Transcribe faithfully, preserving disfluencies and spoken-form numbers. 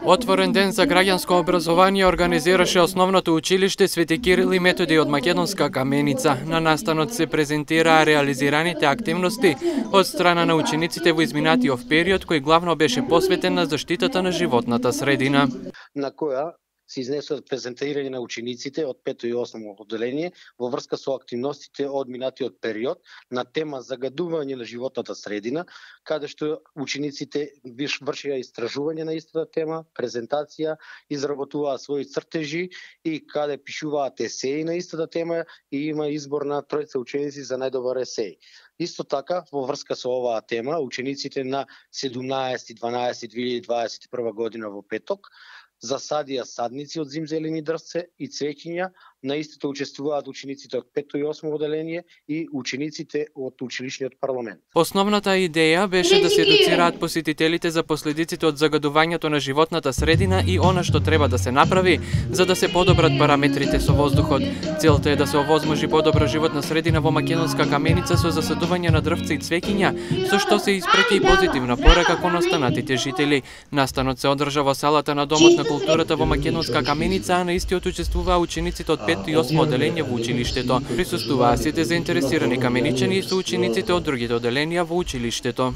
Отворен ден за граѓанско образование организираше Основното училиште Свети Кирил и Методи од Македонска Каменица. На настанот се презентираа реализираните активности од страна на учениците во изминатиот период, кој главно беше посветен на заштитата на животната средина. На која се изнесува презентирање на учениците од пето и осмо одделение во врска со активностите од минатиот период на тема загадување на животната средина, каде што учениците вршија истражување на истата тема, презентација, изработуваа своји цртежи и каде пишуваат есеи на истата тема и има избор на тројца ученици за најдобар есеј. Исто така, во врска со оваа тема, учениците на седумнаесети дванаесети две илјади дваесет и прва година во петок засадија садници од зимзелени дрвце и цвеќиња. На истото учествуваат учениците од пето и осмо одделение и учениците од училишниот парламент. Основната идеја беше да се едуцираат посетителите за последиците од загадувањето на животната средина и она што треба да се направи за да се подобрат параметрите со воздухот. Целта е да се овозможи подобра животна средина во Македонска Каменица со засадување на дрвце и цвеќиња, со што се испреќа и позитивна порака кон останатите жители. Настанот се одржа во салата на Домот на културата во Македонска Каменица, а на истиот учествуваа учениците од пето и осмо одделение во училиштето. Присуствуваа сите заинтересирани каменичани и соучениците од другите одделенија во училиштето.